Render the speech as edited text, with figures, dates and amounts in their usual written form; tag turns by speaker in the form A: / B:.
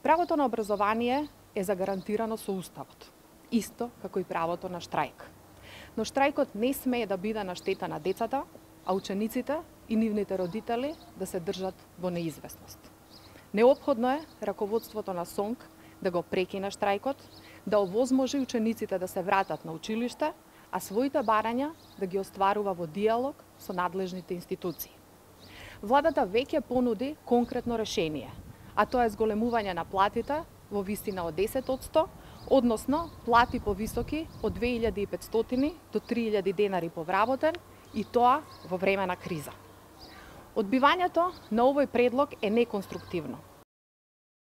A: Правото на образование е загарантирано со Уставот, исто како и правото на штрајк. Но штрајкот не смее да биде на штета на децата, а учениците и нивните родители да се држат во неизвестност. Неопходно е раководството на СОНК да го прекине штрајкот, да овозможи учениците да се вратат на училиште, а своите барања да ги остварува во диалог со надлежните институции. Владата веќе понуди конкретно решение, а тоа е зголемување на платите во висина од 10%, односно плати повисоки од 2500 до 3000 денари по вработен, и тоа во време на криза. Одбивањето на овој предлог е неконструктивно.